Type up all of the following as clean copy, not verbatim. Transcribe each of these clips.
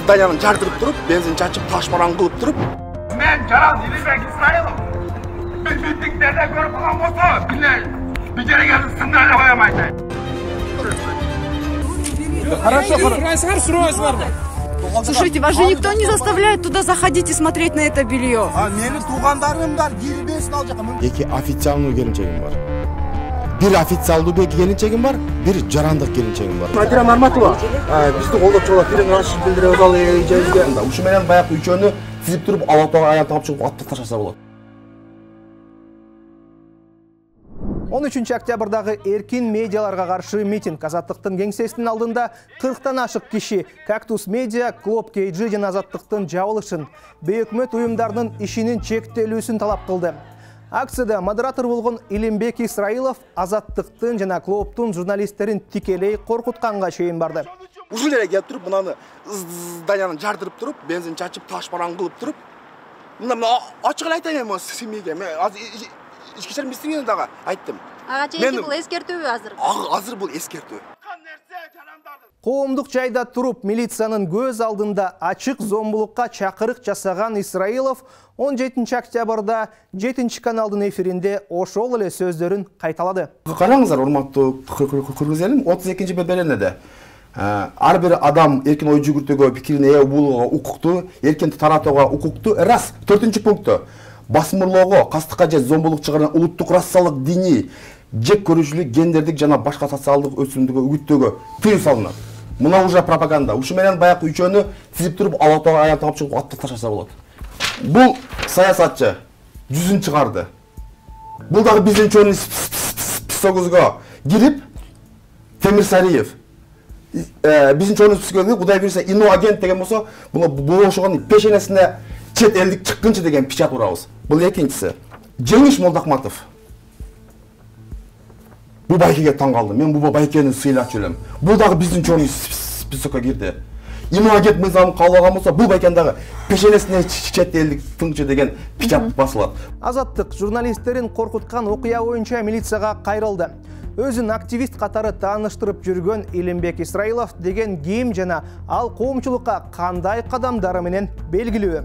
зданияны жардырып туруп, бензин чачып, таш-баран кылып туруп. Мен Жаран Илимбек Исраилов. Митингдерде көрүп калган болсо, bir kere geldim sınırla koyamaydı. Хорошо. Слушайте, вас же никто не заставляет туда заходить и смотреть на это белье. Менин туугандарым бар, кирбесин ал жака. Эки официалдуу келинчегим бар. Бир официалдуу келинчегим бар, бир жарандык келинчегим бар. Надира Марматова, бизди колдоп чыгып, бирин рашид билдирип ал эжебизге. Ушу менен баягы үчөөнү тизип туруп, Алатауга аян таап чыгып аттап таштаса болот. 13 октябрдагы эркин медиаларга каршы митинг. Азаттыктын кеңсесинин алдында 40тан ашык киши Кактус Медиа, Клуб KG жана Азаттыктын жабылышын, бейөкмөт уюмдарынын ишинин чектелүүсүн талап кылды. Акцияда модератор болгон Илимбек Исраилов Азаттыктын жана клубтун журналисттерин тикелей коркутканга чейин барды. Ушул жерге келип туруп, мынаны зданияны жардырып туруп, бензин чачып, таш-баран кылып туруп, мына ачык эле айтайын мен симиге. Мен ички ишер министринин дагы айттым. Ага чейинки бул эскертүүбү азыр? Азыр бул эскертүү. Коомдук жайда туруп, милициянын көз алдында ачык зомбулукка чакырык жасаган Исраилов 17 октябрда 7 каналдын эфиринде ошол эле сөздөрүн кайталады. Караңыздар, урматтуу кыргыз элим, 32-чи беренеде ар бир адам эркин ой жүгүртүүгө, пикирин ээ болууга укуктуу, эркин таратууга укуктуу. Раз, 4-пункту. Басмырлоого, кастыкка же зомбулук чыгарган улуттук расалык, диний, жек көрүүчүлүк, гендердик жана башка социалдык өсүмдүгү үгүттөөгө тыюу салынат. Мына уже пропаганда. Ушу менен баягы үчөөнү тизип туруп, Алатауга аян таап чыгып аттап таштаса болот. Бул саясатчы жүзүн чыгарды. Бул дагы биздин үчөөнүн списогубузга кирип, Темирсариев биздин үчөөнүн списогубузга Кудай берсе иноагент деген болсо, бул ошогонун пешенесине чет элдик чыккынчы деген печат урабыз. Бул экинчиси. Жеңиш Молдахматов. Бул байкеге таң калдым. Мен бул байкени сыйлачу элем. Бул дагы биздин чоң списокко кирди. Иноагент мыйзамын кабылган болсо, бул байкен дагы пешенесине чет элдик тыңчы деген печат басылат. Азаттык журналисттерин коркуткан окуя боюнча милицияга кайрылды. Өзүн активист катары тааныштырып жүргөн Илимбек Исраилов деген ким жана ал коомчулукка кандай кадамдары менен белгилүү.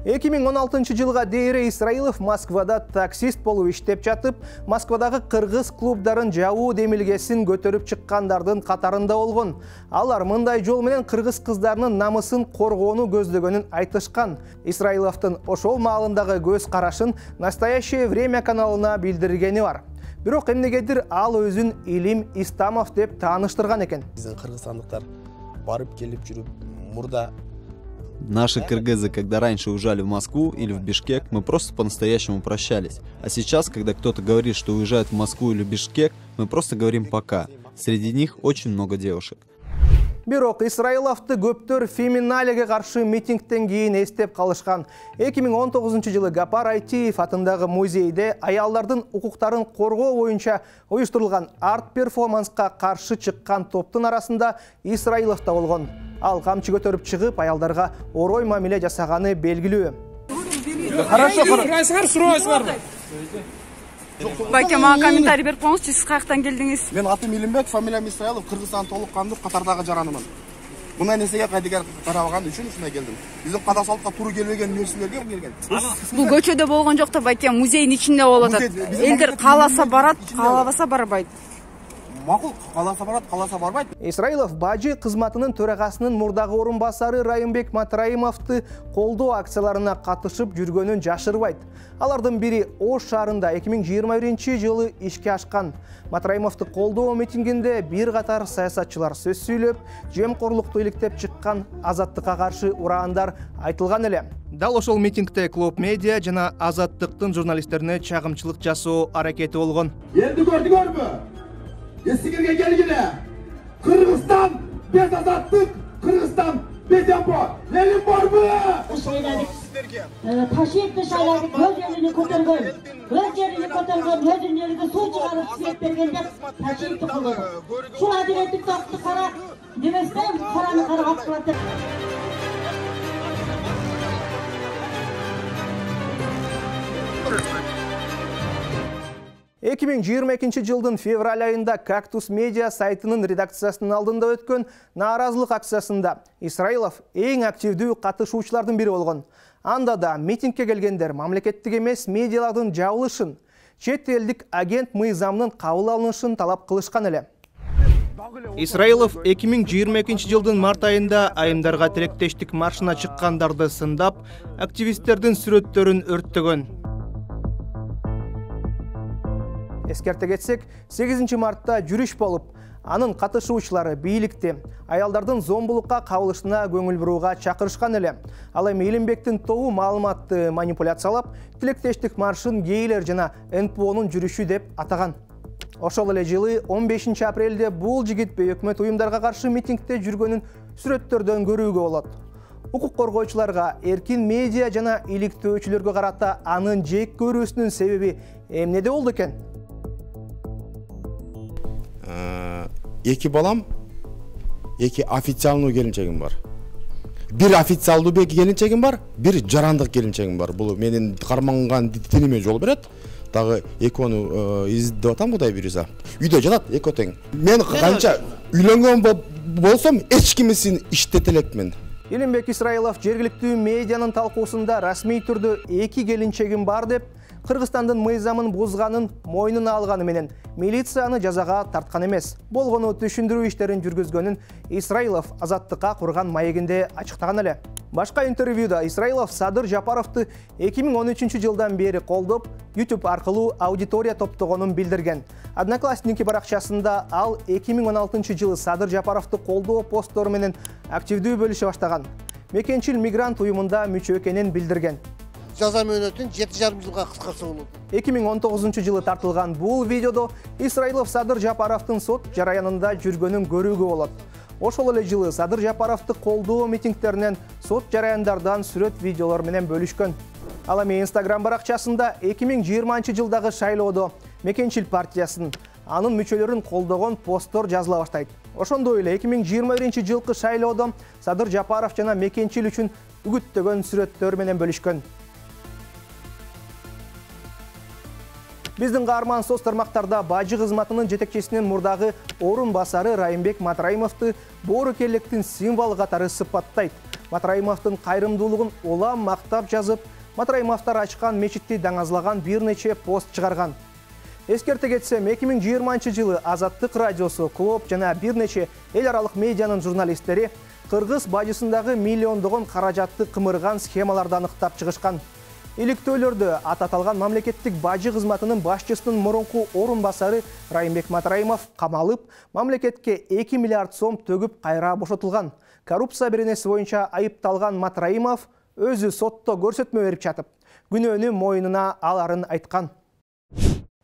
2016 жылга дейре Исраилов Москвада таксист болуп иштеп жатып, Москвадагы кыргыз клубдарын жабуу демилгесин көтөрүп чыккандардын катарында болгон. Алар мындай жол менен кыргыз кыздарынын намысын коргоону көздөгөнүн айтышкан. Исраиловдун ошол маалындагы көз карашын Настоящее время каналына билдиргени бар. Бирок эмнегедир ал өзүн Илим Истамов деп тааныштырган экен. Биздин кыргызстандыктар барып келип жүрүп, мурда Наши кыргызы, когда раньше уезжали в Москву или в Бишкек, мы просто по-настоящему прощались. А сейчас, когда кто-то говорит, что уезжает в Москву или Бишкек, мы просто говорим «пока». Среди них очень много девушек. Бирок Исраиловду көптөр феминалеге каршы митингтен кийин эстеп калышкан. 2019 жылы Гапар Айтиев атындагы музейде аялдардын укуктарын коргоо боюнча уюштурулган арт-перформанска каршы чыккан топтун арасында Исраилов да болгон. Ал камчы көтөрүп чыгып, аялдарга орой мамиле жасаганы белгилүү. Хорошо. Байке, мага комментарий берип коңузчу, сиз каяктан келдиңиз? Мен атым Илимбек, фамилиям Исраилов, Кыргызстан толук кандуу катардагы жаранымын. Мындай нерсеге кайдыгер карабаган үчүн ушундай келдим. Биздин када салтка туура келбеген нерселерге келген. Бул көчөдө болгон жок да, байке, музейдин ичинде болуп атат. Элдер кааласа барат, каалабаса барбайт. Макул, кааласа барат, кааласа барбайт. Исраилов бажы кызматынын төрагасынын мурдагы орун басары Райымбек Матраимовду колдоо акцияларына катышып жүргөнүн жашырбайт. Алардын бири Ош шаарында 2021 жылы ишке ашкан. Матраимовду колдоо митингинде бир катар саясатчылар сөз сүйлөп, жемкорлукту иликтеп чыккан, Азаттыкка каршы ураандар айтылган эле. Дал ошол митингде Клуб Медиа жана Азаттыктын журналисттерине чагымчылык жасоо аракети болгон. Енді көрдүңөрбү? Эсигерге келгиле. Кыргызстан без Азаттык, Кыргызстан без Ямбо. Элим барбы? Ташиевди шайлап өз элини көтөргөн, өзүнүн элине суу чыгарып свет берген деп Ташиевди колдоду. Ушул адилеттик тактыкты кара деместен караны карап калат. 2022 жылдын февраль айында Кактус Медиа сайтынын редакциясынын алдында өткөн нааразылык акциясында Исраилов эң активдүү катышуучулардын бири болгон. Анда да митингке келгендер мамлекеттик эмес медиалардын жабылышын, чет элдик агент мыйзамынын кабыл алынышын талап кылышкан эле. Исраилов 2022 жылдын март айында айымдарга тилектештик маршына чыккандарды сындап, активисттердин сүрөттөрүн өрттөгөн. Эскерте кетсек, 8 мартта жүрүш болуп, анын катышуучулары бийликти аялдардын зомбулукка кабылышына көңүл бурууга чакырышкан эле. Ал эми Илимбектин тобу маалыматты манипуляциялап, тилектештик маршын гейлер жана НПОнун жүрүшү деп атаган. Ошол эле жылы 15 апрелде бул жигит өкмөт уюмдарга каршы митингде жүргөнүн сүрөттөрдөн көрүүгө болот. Укук коргоочуларга, эркин медиа жана иликтөөчүлөргө карата анын жек көрүүсүнүн себеби эмнеде болду экен? Эки балам, эки официалдуу келинчегим бар. Бир официалдуу келинчегим бар, бир жарандык келинчегим бар. Бул менин карманган диниме жол берет. Дагы экөөнү издеп атам Кудай буйруса. Үйдө жатат экөө тең. Мен канча үйлөнгөн болсом, эч кимисин иштете элекмин. Илимбек Исраилов жергиликтүү медианын талкуусунда расмий түрдө эки келинчегим бар деп, Кыргызстандын мыйзамын бузганын мойнуна алганы менен милицияны жазага тарткан эмес. Болгону түшүндүрүү иштерин жүргүзгөнүн Исраилов Азаттыкка курган маегинде ачыктаган эле. Башка интервьюда Исраилов Садыр Жапаровду 2013 жылдан бери колдоп, YouTube аркылуу аудитория топтогонун билдирген. Одноклассники баракчасында ал 2016 жылы Садыр Жапаровду колдоо посттору менен активдүү бөлүшө баштаган. Мекенчил мигрант уюмунда мүчө экенин билдирген. Жаза мөөнөтүн 7,5 жылга кыскартса болот. 2019 жылы тартылган бул видеодо Исраилов Садыр Жапаровдун сот жараянында жүргөнүн көрүүгө болот. Ошол эле жылы Садыр Жапаровду колдоо митингтеринен сот жараяндардан сүрөт видеолор менен бөлүшкөн. Ал эми Instagram баракчасында 2020 жылдагы шайлоодо Мекенчил партиясын, анын мүчөлөрүн колдогон посттор жазыла баштайт. Ошондой эле 2021 жылкы шайлоодо Садыр Жапаров жана Мекенчил үчүн үгүттөгөн сүрөттөр менен бөлүшкөн. Биздин каарман соц тармактарда бажы кызматынын жетекчисинин мурдагы орун басары Райымбек Матраимовду боорукерликтин символу катары сыпаттайт. Матраимовдун кайрымдуулугун улам мактап жазып, Матраимовдор ачкан мечитти даңазлаган бир нече пост чыгарган. Эскерте кетсем, 2020 жылы Азаттык радиосу, Клоп жана бир нече эл аралык медианын журналисттери кыргыз бажысындагы миллиондогон каражатты кымырган схемаларды аныктап чыгышкан. Иликтөөлөрдө аталган мамлекеттик бажы кызматынын башчысынын мурунку орун басары Райымбек Матраимов камалып, мамлекетке 2 миллиард сом төгүп кайра бошотулган. Коррупция беренеси боюнча айыпталган Матраимов өзү сотто көрсөтмө берип жатып, күнөөнү мойнуна аларын айткан.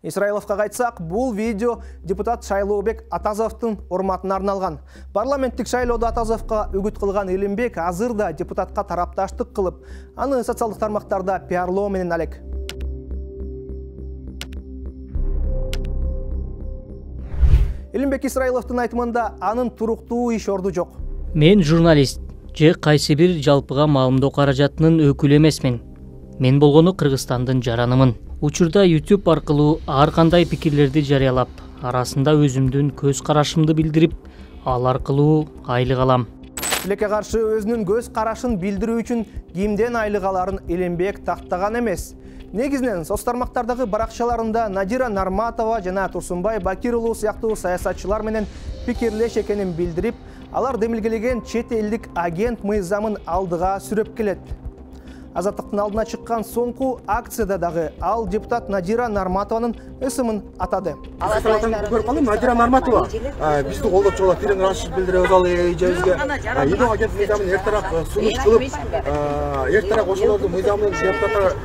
Исраиловка кайтсак, бул видео депутат Шайлообек Атазовдун урматына арналган. Парламенттик шайлоодо Атазовго үгүт кылган Илимбек азыр да депутатка тарапташтык кылып, аны социалдык тармактарда пиарлоо менен алек. Илимбек Исраиловдун айтымында анын туруктуу иш орду жок. Мен журналист же кайсы бир жалпыга маалымдоо каражатынын өкүлү эмесмин. Мен болгону Кыргызстандын жаранымын. Учурда YouTube аркылуу ар кандай пикирлерди жарыялап, арасында өзүмдүн көз карашымды билдирип, ал аркылуу айлык алам. Тилекке каршы өзүнүн көз карашын билдирүү үчүн кимден айлык аларын Илимбек тактаган эмес. Негизинен соц тармактардагы баракчаларында Надира Нарматова жана Турсунбай Бакир уулу сыяктуу саясатчылар менен пикирлеш экенин билдирип, алар демилгелеген чет элдик агент мыйзамын алдыга сүрөп келет. Азаттыктын алдына чыккан соңку акцияда дагы ал депутат Надира Нарматованын ысымын атады. Көрүп калдым, Надира Нарматова бизди колдоп чыгып, тирен ырашып билдирип өз эжебизге. Идо агент мыйзамын эртерээк сунуш кылып, эртерээк ошолорду мыйзамын депутаттар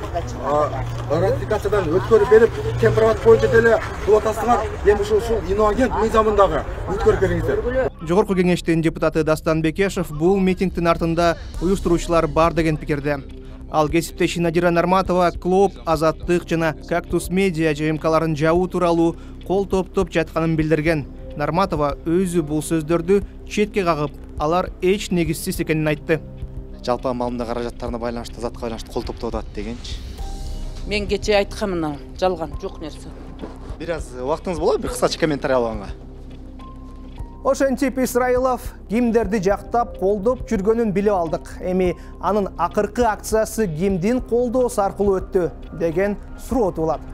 ратификациядан өткөрүп берип, темпироват боюнча деле кылып атасыңар. Эми ушул Ино агент мыйзамындагы өткөрүп бериңиздер. Жогорку кеңештин депутаты Дастан Бекешев бул митингдин артында уюштуруучулар бар деген пикирде. Ал кесиптеши Надира Нарматова Клоп, Азаттык жана Кактус Медиа ЖМКларын жабуу тууралуу кол топтоп жатканын билдирген. Нарматова өзү бул сөздөрдү четке кагып, алар эч негизсиз экенин айтты. Жалпы маалымдоо каражаттарына байланыштуу, Азаттыкка байланыштуу кол топтоп атат дегенчи. Мен кече айтканмын, жалган жок нерсе. Бир аз убактыңыз болобу бир кыскача комментарий алганга? Ошентип Исраилов кимдерди жактап, колдоп жүргөнүн билип алдык. Эми анын акыркы акциясы кимдин колдоосу аркылуу өттү деген суроо туулат.